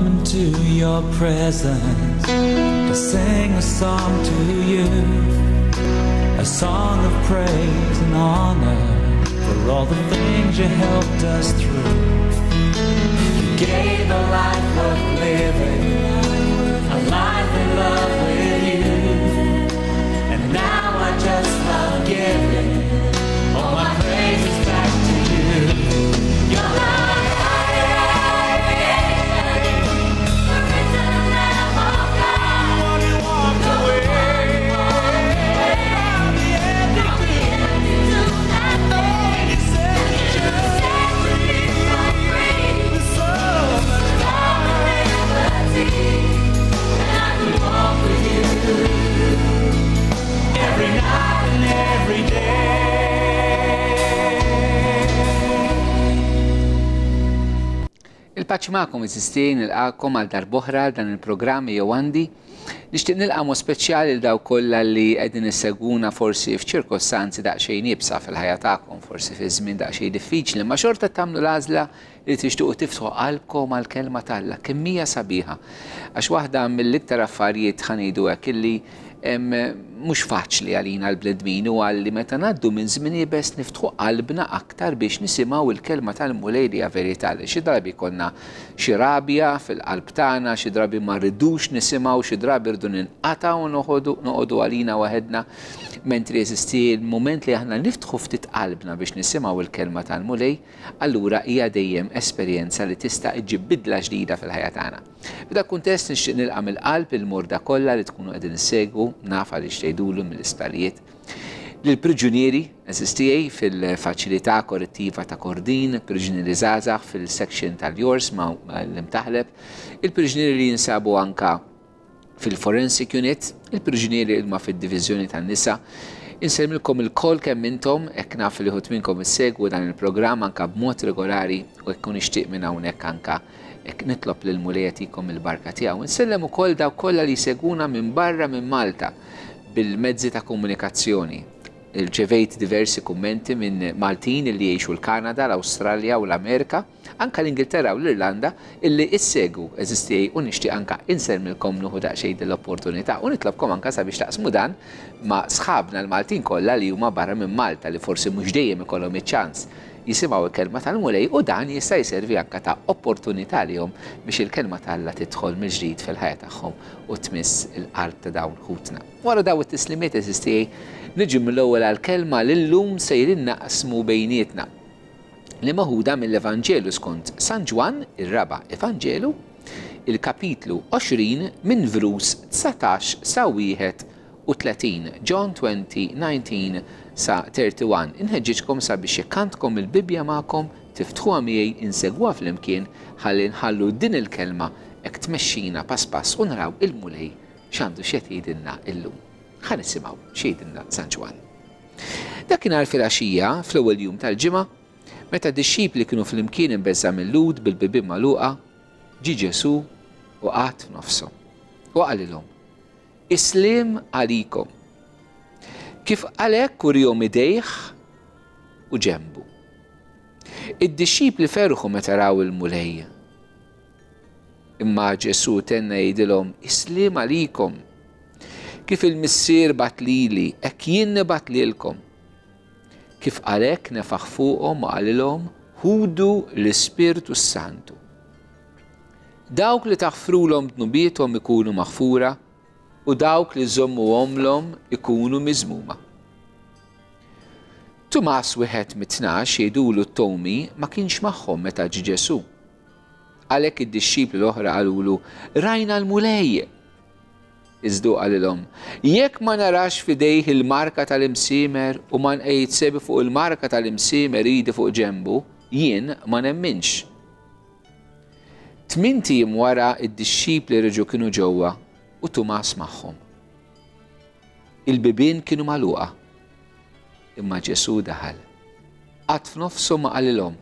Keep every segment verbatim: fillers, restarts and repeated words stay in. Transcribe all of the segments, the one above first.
Come into your presence to sing a song to you, a song of praise and honor for all the things you helped us through. You gave a life worth living, a life in love with you, and now I just love giving all my praises back to you. Your love. Every night and every day. Il-paċi magħkom eżisti, nilqakom għal darb'oħra dan il-programm jew għandi. Nixtieq nilqa' mod speċjali lil dawk kollha li qegħdin issegwuna forsi f'ċirkostanzi daqsxejn iebsa fil-ħajja tagħkom, forsi fi żmien daqsxejn diffiċli, ma xorta tagħmlu l-għażla li tixtiequ tiftħu qalbkom għall-kelma t'Alla, kemm hija sabiħa. Għax waħda mill-iktar affarijiet ħa ngħidu hekk illi mhux faċli għalina l-bnedmin u għalli meta ngħaddu minn żmien iebes niftħu qalbna aktar biex nisimgħu il-kelma tal-Mulej li hija verità, li xi drabi konna xi rabja fil-qalb tagħna, xi drabi ma rridux nisimgħu, xi drabi rridu ninqatgħu u noqogħdu għalina waħedna, mentri jeżisti l-mument li aħna niftħu ftit qalbna biex nisimgħu il-kelma tal-Mulej, allura hija dejjem esperjenza li tista' iġġib bidla ġdida fil-ħajja tagħna. F'dak kuntest nixtieq nilqa' mill-qalb il-morda kollha li tkunu qegħdin issegwu, naf għaliex tgħidulu mill-isptarijiet, lill-priġunieri eżistijaj fil-faċilità korrettiva ta' Kordin, priġunieri żgħażagħ fil-section tal-Jors ma' l-Imtaħleb, il-priġunieri li jinsabu anka fil-Forensic Unit, il-priġunieri li huma fid-diviżjoni tan-nisa. Insellmilkom il-koll kemm intom, hekk naf li ħut minnkom issegwu dan il-programm anka b'mod regolari u hekk nixtieq minn hawnhekk anka hekk nitlob lil Mulej jagħtikom il-barka tiegħu. Insellem ukoll dawk kollha li jsegwuna minn barra minn Malta bil-mezzi ta' komunikazzjoni. Irċevejt diversi kummenti minn Maltin li jgħixu l-Kanada, l-Awstralja u l-Amerika, anka l-Ingilterra u l-Irlanda, illi issegu eżistijaj u nixtieq anka insellmilkom nieħu daqsxejn din l-opportunità u nitlobkom anka sabiex taqsmu dan ma' sħabna l-Maltin kollha li huma barra minn Malta li forsi mhux dejjem ikollhom iċ-ċans jisimgħu il-kelma tal-Mulej u dan jista' jservi anka ta' opportunità lihom biex il-kelma t'Alla tidħol mill-ġdid fil-ħajja tagħhom u tmiss il-qalb ta' dawn ħutna. Wara dawn it-tislimiet eżistijaj, niġu mill-ewwel għall-kelma li llum sejrin naqsmu bejnietna, li maħuda mill-Evanġelu skont San Ġwann, ir-raba' Evanġelu, il-kapitlu għoxrin minn vrus dsatax sa wieħed u tletin, John twenty, nineteen sa thirty-one. Inħeġġiġkom sabiex jekk għandkom il-Bibbja magħkom tiftħuha miegħi, insegwuha flimkien ħalli nħallu din il-kelma hekk tmexxina pass pass u naraw il-Mulej x'għandu x'qed jgħidilna illum. Ħa nisimgħu x'jgħidilna San Ġwann. Dakinhar filgħaxija, fl-ewwel jum tal-ġimgħa, meta d-dixxipli kienu flimkien imbeżża' mil-Lhud bil-bibien magħluqa, ġie Ġesù u qagħad f'nofshom. U qalilhom: Is-sliem għalikom. Kif għalhekk urihom idejh u ġenbu. Id-dixxipli ferħu meta raw il-Mulej. Imma Ġesù tenna jgħidilhom: Is-sliem għalikom. Kif il-Missier bat lili, hekk jien nibgħat lilkom. Kif għalhekk nefaħ fuqhom u qalilhom: Ħudu l-Ispirtu s-Santu. Dawk li taħfrulhom dnubiethom ikunu maħfura, u dawk li żommuhomlhom ikunu miżmuma. Tumas wieħed mit-tnax jgħidulu t-Tomi ma kienx magħhom meta ġie Ġesù. Għalhekk id-dixxipli l-oħra qalulu: Rajna l-Mulej. Iżda qalilhom: Jekk ma narax f'idejh il-marka tal-imsiemer u ma nqejjed sebi fuq il-marka tal-imsiemer idi fuq ġenbu, jien ma nemminx. Tmint ijiem wara id-dixxipli reġgħu kienu ġewwa u Tumas magħhom. Il-bibien kienu magħluqa, imma Ġesù daħal. Qagħad f'nofshom ma qalilhom: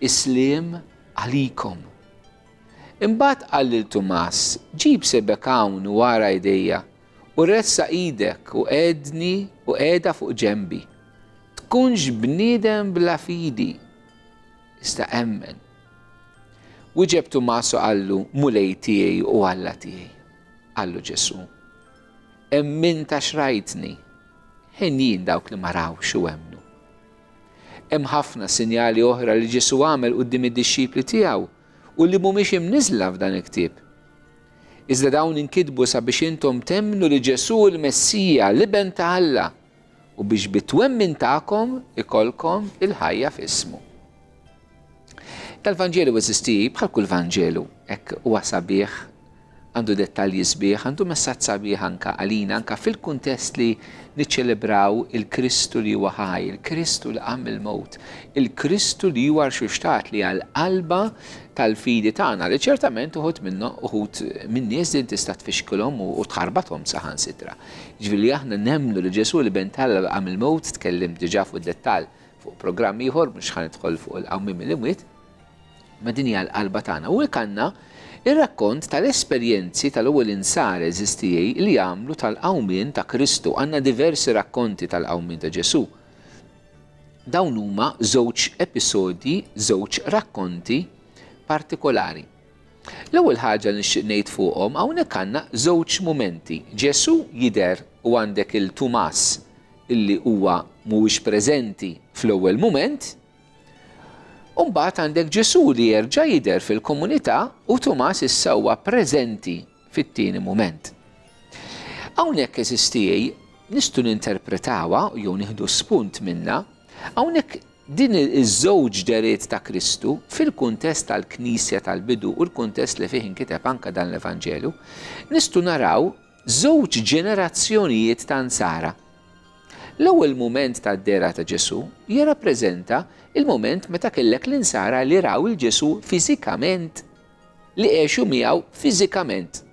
Is-sliem għalikom. Imbagħad qal lil Tumas: Ġib sebek hawn u ara idejja, u ressaq idek u qegħdni u qiegħda fuq ġenbi. Tkunx bniedem bla fidi, iżda emmen. Wieġeb Tumas u qallu, Mulej tiegħi u Alla tiegħi. Qallu Ġesù, emmint għax rajtni, henjin dawk li ma rawx u emmnu. Hemm ħafna sinjali oħra li Ġesù għamel quddiem id-dixxipli tiegħu u li mhumiex imniżla f'dan il-ktieb. Iżda dawn inkitbu sabiex intom temmnu li Ġesù l-Messija, l-Iben ta' Alla, u biex bit-twemmin tagħkom ikollkom il-ħajja f'ismu. Tal-Vanġelu eżisti bħal kull Vanġelu, hekk huwa sabiħ, għandu dettalji sbieħ, għandu messaġġ sabiħ anka għalina, anka fil-kuntest li niċċelebraw il-Kristu li huwa ħaj, il-Kristu li qam mill-mewt, il-Kristu li huwa rxuxtat li għal-qalba tal-fidi tagħna li ċertament uħud minnu uħud minn nies din tista' tfixkilhom u tħarbathom saħansitra. Ġifieri aħna nemmnu li Ġesù l-Iben t'Alla qam mill-mewt, tkellim diġà fuq dettall fuq programm ieħor mhux ħa nidħol fuq il-qawmien mill-imwiet, ma din hija l-qalba tagħna. U hekk għandna ir-rakkont tal-esperjenzi tal-ewwel insara eżistijej li għamlu tal-qawmien ta' Kristu. Għandna diversi rakkonti tal-qawmien ta' Ġesù. Dawn huma żewġ episodji, żewġ rakkonti partikolari. L-ewwel ħaġa li nixtieq ngħid fuqhom hawnhekk għandna żewġ mumenti. Ġesù jidher u għandek il-Tumas illi huwa mhuwiex preżenti fl-ewwel mument. U mbagħad għandek Ġesù li jerġa' jidher fil-komunità u Tumas issa huwa preżenti fit-tieni mument. Hawnhekk eżistijej nistgħu ninterpretawha jew nieħdu spunt minnha, hawnhekk din iż-żewġ deriet ta' Kristu fil-kuntest tal-Knisja tal-bidu u l-kuntest li fih inkiteb anka dan l-Evanġelu, nistgħu naraw żewġ ġenerazzjonijiet ta' nsara. L-ewwel mument tad-dehra ta' Ġesù jirrappreżenta il-mument meta kellek l-insara li raw il-Ġesù fiżikament, li għexu miegħu fiżikament.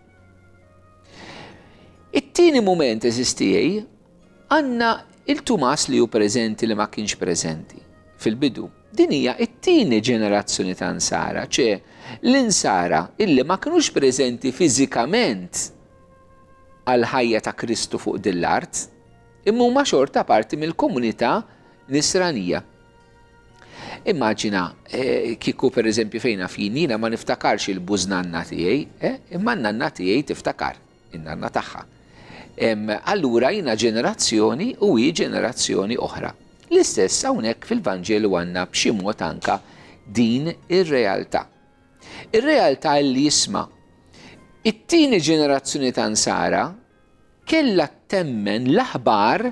It-tieni mument eżistijej għandna il-Tumas li hu preżenti li ma kienx preżenti fil-bidu. Din hija t-tieni ġenerazzjoni ta' nsara, ċe l-insara illi ma kinux preżenti fiżikament għal-ħajja ta' Kristu fuq din l-art, imma huma xorta parti mill-komunità nisranija. Immaġina, eh, kieku per eżempju fejna fin, jiena ma niftakarx il-bużnanna tiegħi, eh, imma n-nanna tiegħi tiftakar, in-nanna tagħha. Allura jiena ġenerazzjoni u hi ġenerazzjoni oħra. L-istess hawnhekk fil-Vanġelu għandna b'xi mod anka din ir-realtà. Ir-realtà li jisma' it-tieni ġenerazzjoni ta' nsara kellha temmen l-aħbar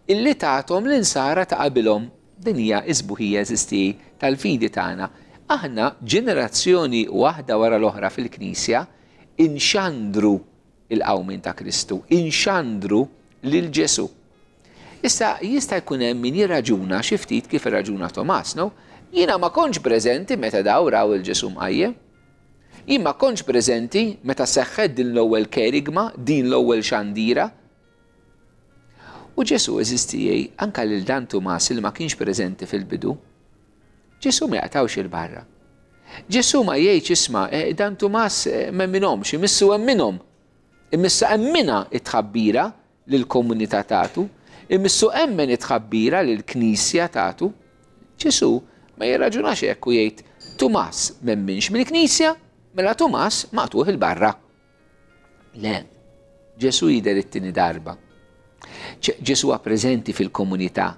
illi tagħthom l-insara ta' qabilhom. Din hija s-sbuħija eżisti tal-fidi tagħna. Aħna ġenerazzjoni waħda wara l-oħra fil-Knisja inxandru il-qawmien ta' Kristu, inxandru lil Ġesù. Issa jista' jkun hemm min jirraġuna xi ftit kif irraġuna Tomas, no? Jiena ma kontx preżenti meta daw raw il-Ġesù mqajjem. Jien ma kontx preżenti meta seħħet din l-ewwel kerigma, din l-ewwel xandira. U Ġesù eżistijej anka lil dan Tumas li ma kienx preżenti fil-bidu. Ġesù ma jaqtawx il-barra. Ġesù ma jgħidx isma', eh, dan Tumas eh, m'emminhomx, imissu emminhom. Imissa emmina it-tħabbira lill-komunità tagħtu, imissu emmen it-tħabbira lill-Knisja tagħtu. Ġesù ma jirraġunax hekk u jgħid Tumas m'emminx mill-Knisja, mela Tumas maqtuħ il-barra. Le, Ġesù jidher it-tieni darba. Ġesù huwa preżenti fil-komunità,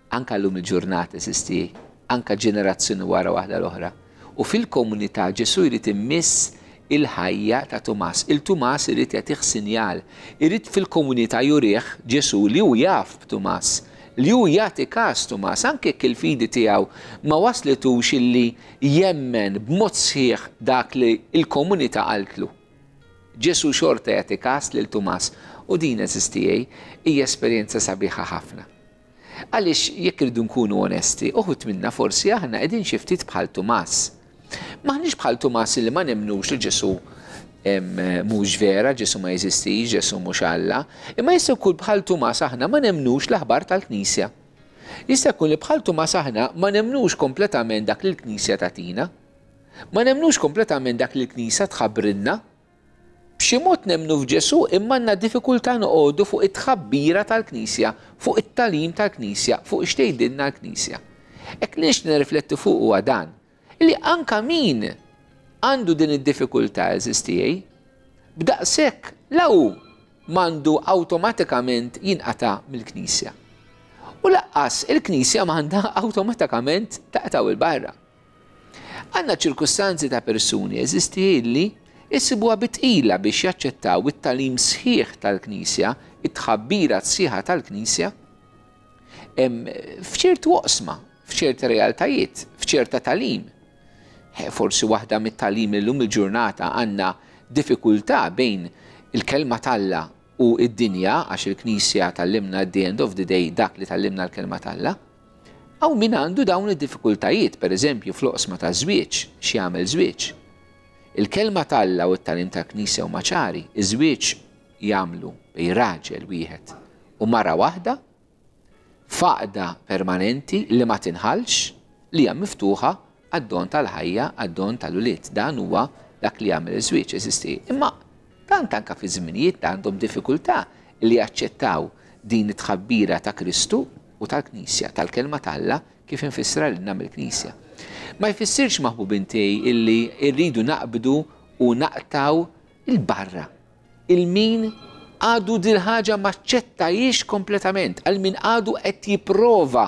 anka llum il-ġurnata eżisti, anka ġenerazzjoni wara waħda l-oħra. U fil-komunità Ġesù jrid immiss il-ħajja ta' Tumas. Il-Tumas irid jagħtih sinjal, irid fil-komunità jurih Ġesù li hu jaf b'Tumas, li hu jagħti każ Tumas, anke jekk il-fidi tiegħu ma waslitux illi jemmen b'mod sħiħ dak li l-komunità qaltlu. Ġesù xorta jagħti każ lil Tumas u din eżistijej hija esperjenza sabiħa ħafna. Għaliex jekk irridu nkunu onesti, uħud minna forsi aħna qegħdin xi ftit bħal Tumas. Maħniex bħal Tumas li ma nemnux li Ġesù mhux vera, Ġesù ma jeżistix, Ġesù mhux Alla, imma jista' jkun bħal Tumas aħna ma nemnux l-aħbar tal-Knisja. Jista' jkun li bħal Tumas aħna ma nemnux kompletament dak li l-Knisja tagħtina. Ma nemnux kompletament dak li l-Knisja tħabbrilna. B'xi mod nemnu f'Ġesù imma għandna diffikultà noqogħdu fuq it-tħabbira tal-Knisja, fuq it-tagħlim tal-Knisja, fuq x'tgħidilna l-Knisja. Hekk li nixtieq nirrifletti fuq huwa dan, li anka min għandu din id-diffikultà, għeżież tiegħi, b'daqshekk la hu m'għandu awtomatikament jinqata' mill-Knisja. U lanqas il-Knisja m'għandha awtomatikament taqtgħu 'l barra. Għandna ċirkustanzi ta' persuni, għeżież tiegħi, li jsibuha bi tqila biex jaċċettaw it-tagħlim sħiħ tal-Knisja, it-tħabbira sħiħa tal-Knisja, f'ċertu oqsma, f'ċerta realtajiet, f'ċerta tagħlim. Forsi waħda mit-tagħlim li llum il-ġurnata għandna diffikultà bejn il-kelma t'Alla u id-dinja, għax il-Knisja tgħallimna at the end of the day dak li tgħallimna l-kelma t'Alla. Hawn min għandu dawn id-diffikultajiet, per eżempju, fl-oqsma ta' żwieġ, x'jagħmel żwieġ. Il-kelma t'Alla u t-tagħlim tal-Knisja huma ċari, iż-żwieġ jagħmlu bejn raġel wieħed u mara waħda, f'għaqda permanenti li ma tinħallx, li hija miftuħa għad-don tal-ħajja, għad-don tal-ulied. Dan huwa dak li jagħmel iż-żwieġ, għeżież tiegħi. Imma tant anka fi żminijiet għandhom diffikultà li jaċċettaw din it-tħabbira ta' Kristu u tal-Knisja, tal-kelma t'Alla kif infissra lilna mill-Knisja. Ma jfissirx, maħbubin tiegħi, illi rridu naqbdu u naqtgħu 'l barra lil min għadu dil-ħaġa m'aċċettahiex kompletament, għal min għadu qed jipprova.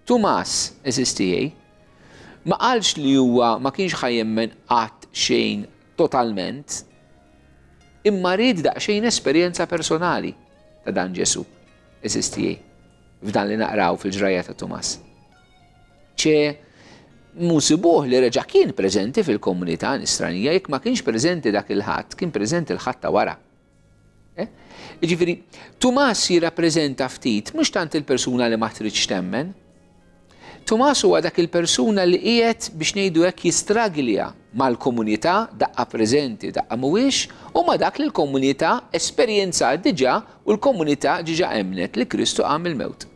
Tumas, għeżież tiegħi, ma qalx li huwa ma kienx ħa jemmen qatt xejn totalment, imma ried daqsxejn esperjenza personali ta' dan Ġesu, għeżież tiegħi, f'dan li naqraw fil-ġrajja ta' Tumas. ċe insibuh li reġa' kien preżenti fil-komunità nisranija, jekk ma kienx preżenti dak il-Ħadd, kien preżenti l-Ħadd ta' wara. Eh? Jiġifieri, Tumas jirrappreżenta ftit, mhux tant il-persuna li ma tridx temmen. Tumas huwa dak il-persuna li qiegħed, biex ngħidu hekk, jistraglja mal-komunità, daqqa preżenti, daqqa mhuwiex, u ma dak li l-komunità esperjenza diġà u l-komunità diġà emnet li Kristu qam mill-mewt.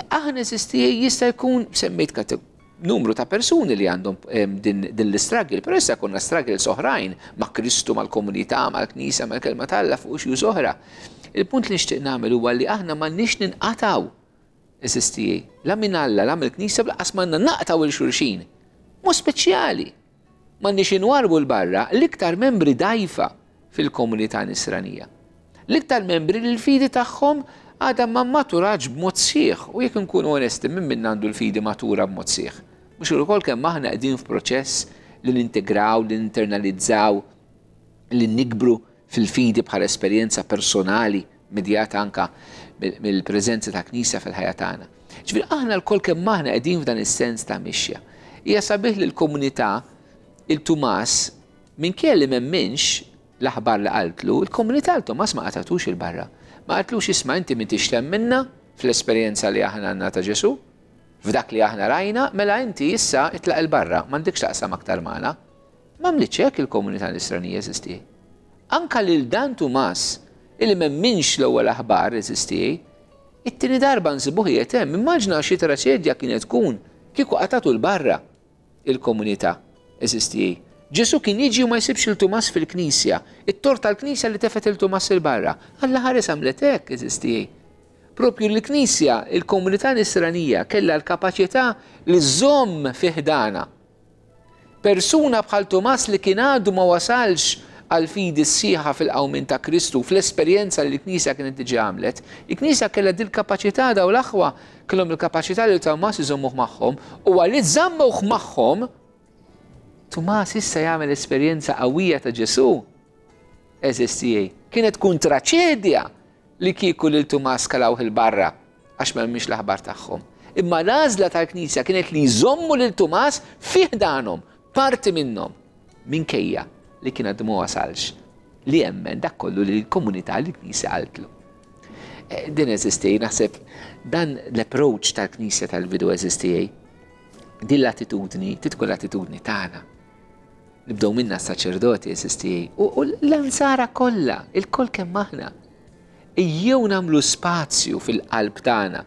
Aħna, għeżież tiegħi, jista' jkun semmejt numru ta' persuni li għandhom din, din l-struggle, però issa konna struggles oħrajn ma' Kristu, mal-komunità, mal-Knisja, mal-kelma t'Alla fuq issues oħra. Il-punt li nixtieq nagħmel huwa li aħna m'għandniex ninqatgħu, għeżież tiegħi, la minn Alla, la mill-Knisja, lanqas m'għandna naqtgħu 'l xulxin. B'mod speċjali. M'għandniex inwarbu 'l barra l-iktar membri dgħajfa fil-komunità nisranija. L-iktar membri li l-fidi tagħhom għadha ma maturatx b'mod sħiħ, u jekk nkunu onesti, min minna għandu l-fidi matura b'mod sħiħ? Mhux ukoll kemm aħna qegħdin f'proċess li nintegraw, li ninternalizzaw, li nikbru fil-fidi bħala esperjenza personali medjata anka mill-preżenza ta' Knisja fil-ħajja tagħna. Ġifieri aħna lkoll kemm aħna qegħdin f'dan is-sens ta' mixja. Hija sabiħ li l-komunità lil Tumas, minkejja li m'emminx l-aħbar li qaltlu, il-komunità lil Tumas ma qatgħetux 'il barra. Ma qaltlux, "Isma', inti m'intix temminna fl-esperjenza li aħna għandna ta' Ġesu, f'dak li aħna rajna, mela inti issa itlaq 'il barra, m'għandekx taqsam aktar magħna." M'għamlitx hekk il-komunità nisranija, għeżież tiegħi. Anka lil dan Tumas, illi m'emminx l-ewwel aħbar, għeżież tiegħi, it-tieni darba nsibuh hemm. Immaġina xi traċedja kienet tkun kieku qatgħetu 'l barra il-komunità, għeżież tiegħi. Ġesu kien jiġi u ma jsibx lil Tumas fil-Knisja. It-tort tal-Knisja li tefgħet lil Tumas 'il barra. Alla ħares għamlet hekk, għeżież tiegħi. Propju l-Knisja, il-komunità nisranija kellha l-kapaċità li żżomm fi ħdanha persuna bħal Tumas li kien għadu ma wasalx għal fidi sħiħa fil-qawmien ta' Kristu, fl-esperjenza li l-Knisja kienet diġà għamlet. Il-Knisja kellha dil-kapaċità, daw l-aħwa kellhom il-kapaċità li Tumas iżommuh magħhom, u għalli żammuh magħhom, Tumas issa jagħmel esperjenza qawwija ta' Ġesu. Għeżież tiegħi. Kienet tkun traċedja li kieku lil Tumas kalawh 'il barra għax m'emminx l-aħbar tagħhom. Imma l-għażla tal-Knisja kienet li jżommu lil Tumas fi ħdanhom, parti minnhom, minkejja li kien għadu ma wasalx li jemmen dak kollu li l-komunità, li l-Knisja qaltlu. Eh, din, għeżież tiegħi, naħseb dan l-approach tal-Knisja tal-bidu, għeżież tiegħi, din l-attitudni, tkun l-attitudni tagħna. Nibdew minna s-saċerdoti, għeżież tiegħi, u l-insara kollha, ilkoll kemm aħna. Ejjew nagħmlu spazju fil-qalb tagħna.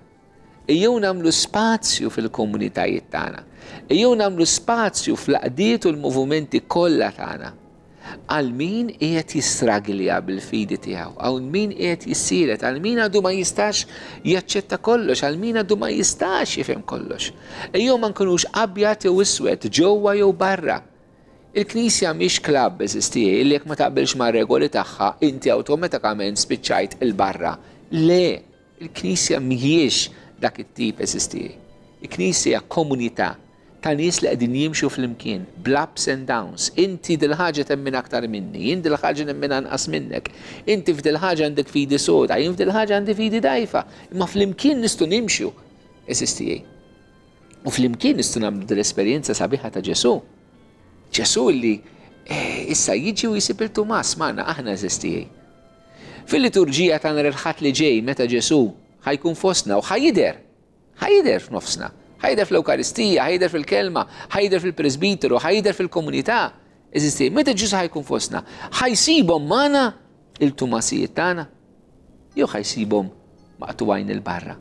Ejjew nagħmlu spazju fil-komunitajiet tagħna. Ejjew nagħmlu spazju fl-għaqdiet u l-movimenti kollha tagħna għal min qiegħed jistraglja bil-fidi tiegħu, għal min qiegħed jissielet, għal min għadu ma jistax jaċċetta kollox, għal min għadu ma jistax jifhem kollox. Ejjew ma nkunux abjad jew iswed, ġewwa jew barra. Il-Knisja mhix klabb, għeżież tiegħi, li jekk ma taqbilx ma' regoli tagħha, inti awtomatikament spiċċajt il-barra. Le, il-Knisja mhijiex dak it-tip, għeżież tiegħi. Il-Knisja hija komunità ta' nies li qegħdin jimxu flimkien, bl-ups and downs. Inti dil-ħaġa temmen aktar minni, jien dil-ħaġa nemmen anqas minnek. Inti f'dil-ħaġa għandek fidi soda, jien f'dil-ħaġa għandi fidi dgħajfa. Imma flimkien nistgħu nimxu, għeżież tiegħi. U flimkien nistgħu nagħmlu dil-esperjenza sabiħa ta' Ġesù. Ġesù li eh, issa jiġi u jsib lil Tumas magħna aħna, għeżież tiegħi. Fil-liturġija ta' nhar il-Ħadd li ġej, meta Ġesù ħa jkun fostna u ħa jidher, ħa jidher f'nofsna, ħa jidher fl-Ewkaristija, ħa jidher fil-kelma, ħa jidher fil-presbiteru, ħa jidher fil-komunità. Għeżież tiegħi, meta Ġesù ħa jkun fostna, ħa jsibhom magħna il-Tumasijiet tagħna, jew ħa jsibhom maqtugħin 'il barra?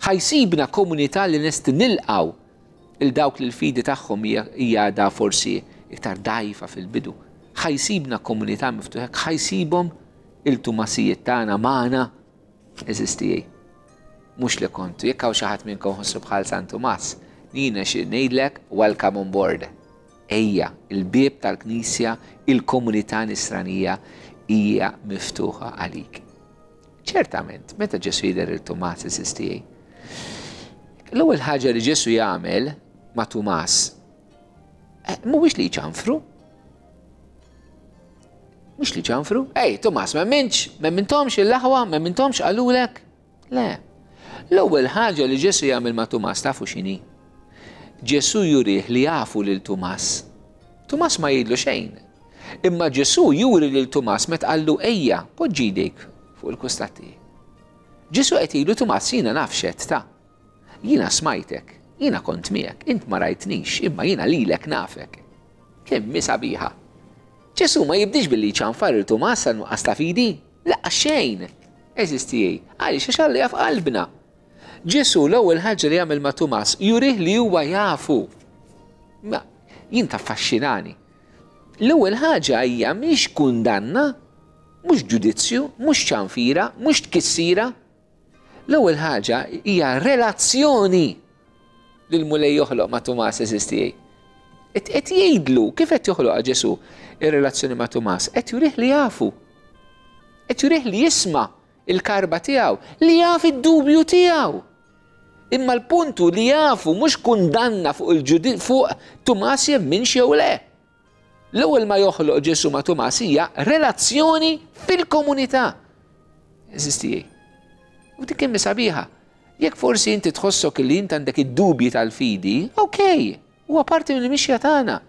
Ħa jsibna komunità li lesti nilqgħu lil dawk li l-fidi tagħhom hija da forsi iktar dgħajfa fil-bidu? Ħa jsibna komunità miftuħa? Ħa jsibhom il-Tumasijiet tagħna magħna, għeżież tiegħi? Mhux li kontu, jekk hawn xi ħadd minnkom ħossu bħal San Tumas, jiena xi ngħidlek, welcome on board. Ejja, il-bieb tal-Knisja, il-komunità nisranija hija miftuħa għalik. Ċertament, meta Ġesu jidher lil Tumas, għeżież tiegħi, l-ewwel ħaġa li Ġesu jagħmel ma' Tumas eh, mhuwiex li jċanfru. Mhux li ċanfru. "Ej, Tumas, ma minx, ma mintomx il-laħwa, ma mintomx qalulek." Le. L-ewwel ħaġa li Ġesu jagħmel ma' Tumas tafu x'inhi? Ġesu jurih li jafu lil Tumas. Tumas ma jgħidlu xejn. Imma Ġesu juri lil Tumas meta qallu: "Ejja, poġġi jdejk fuq il-kustati." Ġesu qed jgħidlu: "Tumas, jiena naf x'għedt ta. Jiena smajtek, jiena kont miegħek, int ma rajtnix, imma jiena lilek nafek." Kemm sabiħa. Ġesu ma jibdix billi ċanfar lil Tumas għal nuqqas ta' fidi. Lanqas xejn. Għeżież tiegħi. Għaliex? Għax Alla jaf qalbna. Ġesu l-ewwel ħaġa li jagħmel ma' Tumas jurih li huwa jafu. Ma jien taffaxxinani. L-ewwel ħaġa hija mhix kundanna, mhux ġudizzju, mhux ċanfira, mhux tkissira. L-ewwel ħaġa hija relazzjoni li l-Mulej joħloq ma' Tumas, għeżież tiegħi. Qed jgħidlu, kif qed joħloq Ġesu ir-relazzjoni ma' Tumas? Qed jurih li jafu. Qed jurih li jisma' il-karba tiegħu, li jaf id-dubju tiegħu. Imma l-puntu li jafu mhux kundanna fuq il-ġudi fuq Tumas jemminx jew le. L-ewwel ma joħloq Ġesu ma' Tumas hija relazzjoni fil-komunità. Għeżież tiegħi. U dik kemm sabiħa. Jekk forsi inti tħossok li int għandek id-dubji tal-fidi, okej, huwa parti mill-mixja tagħna.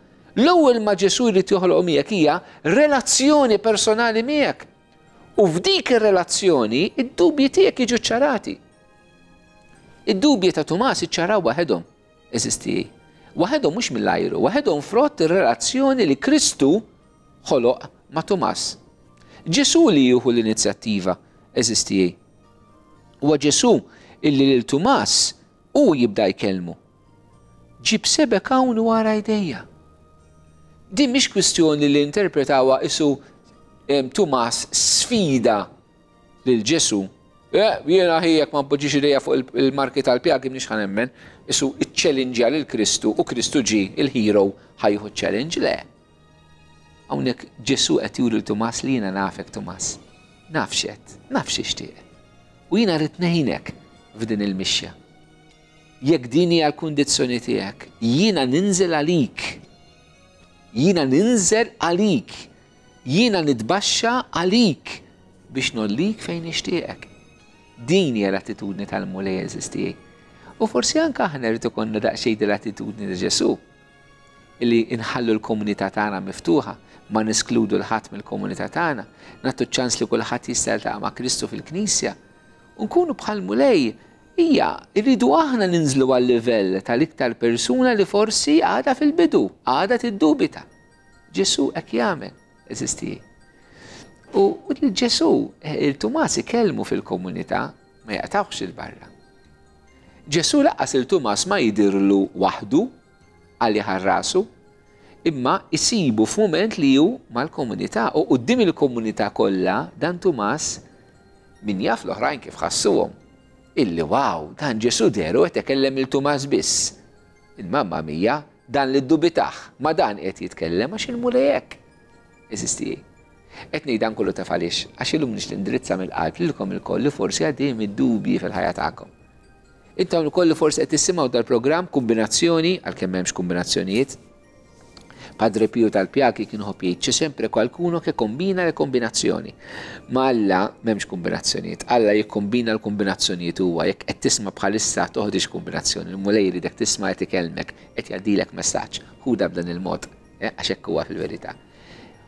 L-ewwel ma Ġesu jrid joħloq miegħek hija relazzjoni personali miegħek. U f'dik ir-relazzjoni id-dubji tiegħek jiġu ċarati. Id-dubji ta' Tumas iċċaraw waħedhom, għeżież tiegħi. Waħedhom mhux mill-ajru, waħedhom frott ir-relazzjoni li Kristu ħoloq ma' Tumas. Ġesu li jieħu l-inizjattiva, għeżież tiegħi. Huwa Ġesu illi lil Tumas u jibda jkellmu: "Ġib sebgħek hawn wara jdejja." Din mhix kwistjoni li interpretawha isu Tumas sfida lil Ġesu. Eh, "jiena ħijek ma npoġġix idejja fuq il-marki tal-pjagi mniex ħa nemmen", isu iċ-challenge lil Kristu u Kristu ġi il-hero ħa jieħu challenge, le. Hawnhekk Ġesu qed juri lil Tumas li jiena nafek, Tumas. Naf x'għedt, naf x'tixtieq. U jiena rrid ngħinek f'din il-mixja. Jekk din hija l-kundizzjoni tiegħek, jiena ninżel għalik. Jiena ninżel għalik. Jiena nitbaxxa għalik biex ngħollik fejn nixtieqek. Din hija l-attitudni tal-Mulej, għeżież tiegħi. U forsi anke aħna rrid ikollna daqsxejn l-attitudni ta' Ġesu illi inħallu l-komunità tagħna miftuħa, ma neskludu 'l ħadd mill-komunità tagħna, nagħtu ċans li kulħadd jista' jiltaqa' ma' Kristu fil-Knisja. U nkunu bħal Mulej hija rridu aħna ninżlu għal-livell tal-iktar persuna li forsi għadha fil-bidu, għadha tiddubita. Ġesu hekk jagħmel, għeżież tiegħi. U l-Ġesu, lil Tumas ikellmu fil-komunità, ma jaqtgħux 'il barra. Ġesu lanqas lil Tumas ma jidirlu waħdu għalli ħarrasu, imma jisibu f'mument li hu mal-komunità u quddiem il-komunità kollha dan Tumas, min jaf l-oħrajn kif ħassuhom. Illi wow, dan Ġesu deru qed ikellem lil Tumas biss. Il-mamma mia, Dan li ddubitah, ma dan qed jitkellem għax il-Mulej hekk. Għeżież tiegħi. Qed ngħid dan kollu taf għaliex, għax illum nixtieq nindirizza mill-qalb lilkom ilkoll li forsi għaddejjin mid-dubji fil-ħajja tagħkom. Intom ukoll li forsi qed tissimgħu dal-programm kombinazzjoni, għalkemm m'hemmx kombinazzjonijiet. Padre Pio tal-Pjagi kien iħobb jgħid c'è sempre qualcuno che combina le combinazioni. Ma Alla m'hemmx kombinazzjonijiet, Alla jikkombina l-kombinazzjonijiet huwa, jekk qed tisma' bħalissa toħdix kombinazzjoni, il-Mulej jridek tisma' qed ikellmek, qed jgħaddilek messaġġ, ħuda b'dan il-mod, eh, għax hekk huwa fil-verità.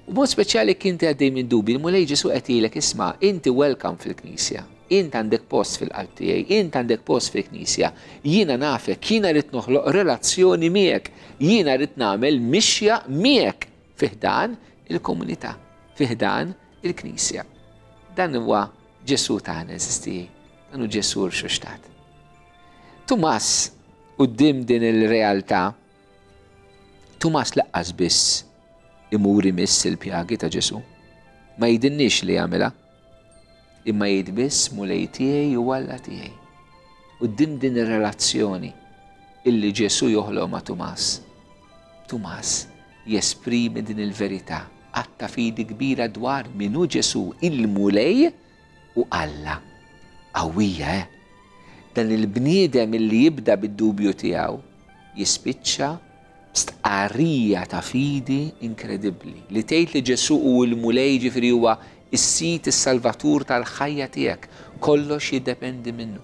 U mod speċjali kien għaddej minn dubi, il-Mulej Ġesu qed jgħidlek isma' inti welcome fil-Knisja, int għandek post fil-qalb tiegħi, int għandek post fil-Knisja, jiena nafek, jiena rrid noħloq relazzjoni miegħek, jiena rrid nagħmel mixja miegħek fi ħdan il-komunità, fi ħdan il-Knisja. Dan huwa Ġesu tagħna, għeżież tiegħi, dan hu Ġesu rxoxtat. Tumas, quddiem din il-realtà, Tumas lanqas biss imur imiss il-pjagi ta' Ġesu. Ma jidinniex li jagħmilha, imma jgħid biss Mulej tiegħi u Alla tiegħi. Quddiem din ir-relazzjoni illi Ġesu joħloq ma' Tumas, Tumas jesprimi din il-verità, att ta' fidi kbira dwar min hu Ġesu, il-Mulej u Alla. Qawwija, eh? Dan il-bniedem illi jibda bid-dubju tiegħu jispiċċa stqarrija ta' fidi inkredibbli li tgħid li Ġesu hu l-Mulej, ġifieri huwa is-Sid, is-Salvatur tal-ħajja tiegħek, kollox jiddependi minnu.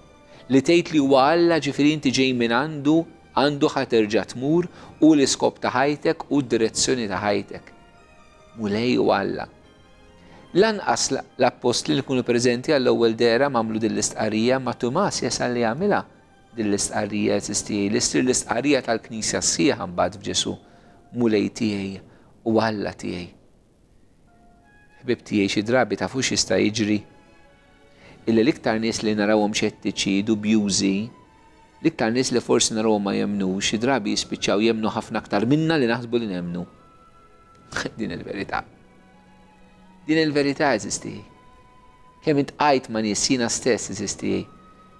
Li tgħid li huwa Alla, ġifieri inti ġej minn għandu, għandu ħa terġa' tmur, u l-iskop ta' ħajtek u d-direzzjoni ta' ħajtek. Mulej u Alla. Lanqas l-appostli li kunu preżenti għall-ewwel dehra m'għamlu din l-istqarrija, ma Tumas jasal li jagħmilha din l-istqarrija, għeżież tiegħi, l-istqarrija tal-Knisja sħiħa mbagħad f'Ġesu, Mulej tiegħi u Alla tiegħi. Ħbib tiegħi, xi drabi tafux jista' jiġri illi l-iktar nies li narawhom xettiċi, dubjużi, l-iktar nies li forsi narawhom ma jemnux, xi drabi jispiċċaw jemnu ħafna aktar minna li naħsbu li nemnu. Din il-verità. Din il-verità eżisti. Kemm iltqajt ma' nies jiena stess, għeżież tiegħi,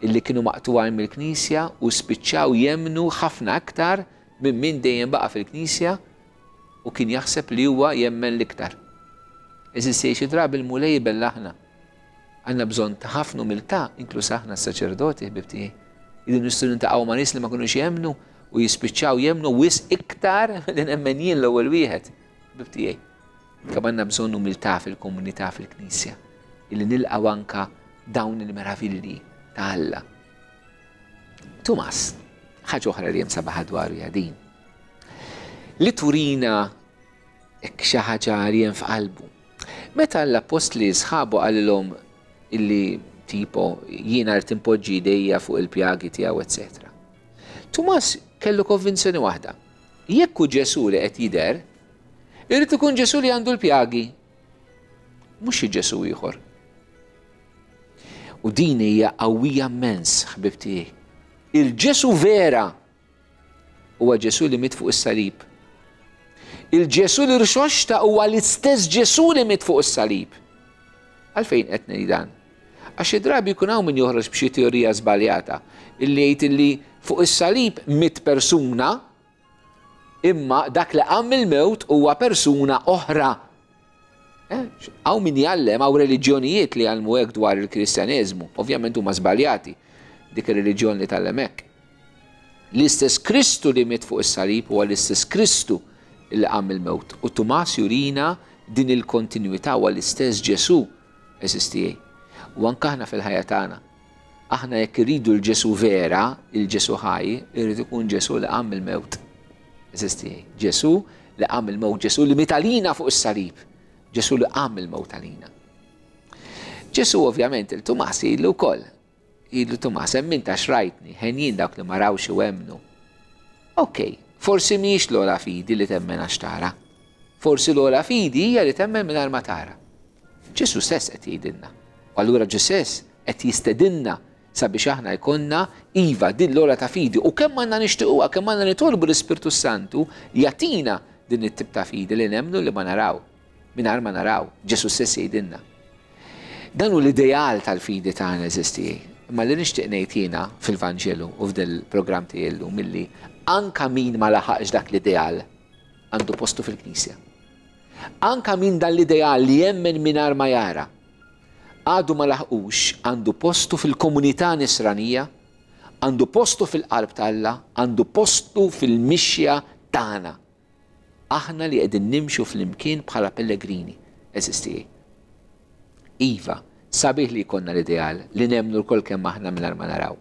illi kienu maqtugħin mill-Knisja u spiċċaw jemnu ħafna aktar minn min dejjem baqa' fil-Knisja u kien jaħseb li huwa jemmen l-iktar. Għeżież tiegħi, xi drabi l-Mulej bellaħna. Għandna bżonn ta' ħafna umiltà, inkluż aħna s-saċerdoti, ħbib tiegħi. Idu nistgħu niltaqgħu ma' nies li ma kinux jemnu u jispiċċaw jemnu wisq iktar milli nemmen jien l-ewwel wieħed, ħbib tiegħi. Kemm għandna bżonn umiltà fil-komunità, fil-Knisja, illi nilqgħu anka dawn il-meravilli ta' Alla. Tumas, ħaġa oħra li hemm sabaħa dwaru hija din. Li turina hekk xi ħaġa li hemm f'qalbu. Meta l-appostli sħabu qalilhom illi tipo jiena rrid impoġġi idejja fuq il-pjagi tiegħu, eċċetera. Tumas kellu konvinzjoni waħda. Jekk hu Ġesu li qed jidher, irid ikun Ġesu li għandu l-pjagi, mhux xi Ġesu ieħor. U din hija qawwija immens, ħbib tiegħi. Il-Ġesu vera huwa Ġesu li miet fuq is-salib. Il-Ġesu li rxoxta huwa l-istess Ġesu li miet fuq is-salib. Għalfejn qed ngħid dan? Għax xi drabi jkun hawn min joħroġ b'xi teorija żbaljata illi jgħid illi fuq is-salib miet persuna, imma dak li qam mill-mewt huwa persuna oħra. Eh, hawn min jgħallem, hawn reliġjonijiet li jgħallmu hekk dwar il-Kristjaneżmu, ovvjament huma żbaljati dik ir-reliġjon li tgħallem hekk. L-istess Kristu li miet fuq is-salib huwa l-istess Kristu li qam mill-mewt. U Tumas jurina din il-kontinwità, huwa l-istess Ġesu, għeżież tiegħi. U anke aħna fil-ħajja tagħna. Aħna jekk irridu l-Ġesu vera, il-Ġesu ħaj, irrid ikun Ġesu li qam mill-mewt. Għeżież tiegħi. Ġesu li qam mill-mewt, Ġesu li miet għalina fuq is-salib, Ġesu li qam mill-mewt għalina. Ġesu ovvjament il-Tumas jgħidlu wkoll. Jgħidlu Tumas, hemm int għax rajtni, henjin dawk li ma rawx u emmnu. Ok, forsi mhijiex l-ogħla fidi li temmen għax tara. Forsi l-ogħla fidi hija li temmen mingħajr ma tara. Ġesu stess qed jgħidilna. U allura Ġesu stess qed jistedinna sabiex aħna jkollna iva din l-ogħla ta' fidi, u kemm għandna nixtiequha, kemm għandna nitolbu l-Ispirtu Santu jagħtina din it-tip ta' fidi li nemmnu li ma naraw, mingħajr ma naraw. Ġesu stess jgħidilna. Dan hu l-ideal tal-fidi tagħna, għeżież tiegħi. Imma li nixtieq ngħid jiena fil-Vanġelu u f'dil-programm tiegħi llum milli anka min ma laħaqx dak l-ideal għandu postu fil-Knisja. Anka min dan l-ideal li jemmen mingħajr ma jara għadu ma laħqux, għandu postu fil-komunità nisranija, għandu postu fil-qalb t'Alla, għandu postu fil-mixja tagħna. Aħna li qegħdin nimxu flimkien bħala pellegrini, għeżież tiegħi. Iva, sabiħ li jkollna l-ideal li nemmnu lkoll kemm aħna mingħajr ma naraw.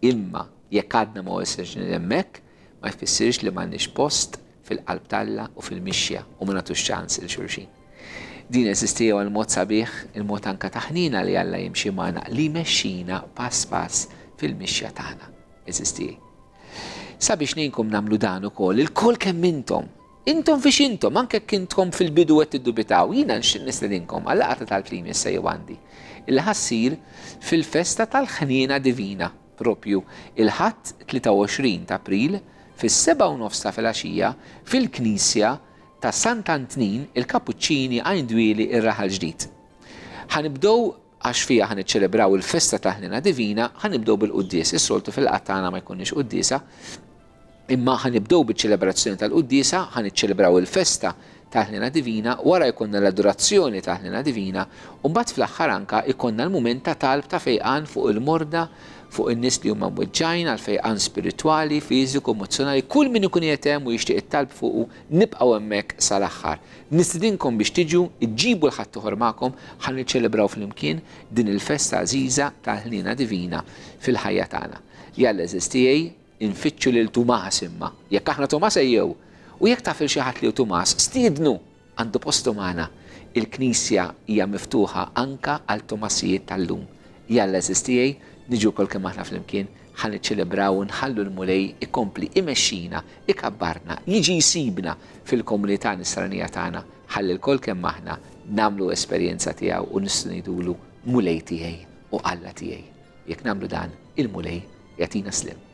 Imma jekk għadna ma wasalx hemmhekk, ma jfissirx li m'għandniex post fil-qalb t'Alla u fil-mixja u ma nagħtux ċans lil xulxin. Din għeżież tiegħi il-mod sabiħ, il-mod anka ta' ħniena li Alla jimxi magħna, li mexxina pass pass fil-mixja tagħna, għeżież tiegħi. Sabiex ngħinkom nagħmlu dan ukoll, ilkoll kemm intom, intom fiex intom, anke intom fil-bidu qed tiddubitaw, jiena nistedinkom għal laqgħa tal-plim issa jew għandi. Illi ħa ssir fil-festa tal-ħniena divina, propju il-Ħadd tlieta u għoxrin ta' April fis-sebgħa u nofs ta' filgħaxija fil-Knisja ta' Sant'Antnin il-Kapuċċini, Għajn Dwieli, ir-Raħal Ġdid. Ħa nibdew, għax fija ħa niċċelebraw il-festa ta' ħniena divina, ħa nibdew bil-quddies. Is-soltu fil-laqgħa tagħna ma jkunniex quddiesa, imma ħa nibdew biċ-ċelebrazzjoni tal-quddiesa, ħa niċċelebraw il-festa ta' ħniena divina, wara jkollna l-adorazzjoni ta' ħniena divina, u mbagħad fl-aħħar anka jkollna l-mument ta' talb ta' fejqan fuq il-morda, fuq in-nies li huma mweġġajn, għal fejqan spiritwali, fiżiku, emozzjonali, kull min ikun hemm u jixtieq it-talb fuqu, nibqgħu hemmhekk sal-aħħar. Nistidinkom biex tiġu, iġġibu 'l ħaddieħor magħkom, ħa niċċelebraw flimkien din il-festa għażiża tal-ħniena divina fil-ħajja tagħna. Jalla, għeżież tiegħi, infittxu lil Tumas imma. Jekk aħna Tumas, ejjew. U jekk taf lil xi ħadd li hu Tumas, stiednu, għandu postu magħna. Il-Knisja hija miftuħa anka għal Tumasijiet tal-lum. Jalla, għeżież tiegħi, niġu lkoll kemm aħna flimkien, ħa niċċelebraw u nħallu l-Mulej ikompli imexxina, ikabbarna, jiġi jsibna fil-komunità nisranija tagħna, ħalli lkoll kemm aħna nagħmlu esperjenza tiegħu u nistgħu ngħidulu: "Mulej tiegħi u Alla tiegħi." Jekk nagħmlu dan, il-Mulej jagħtina sliem.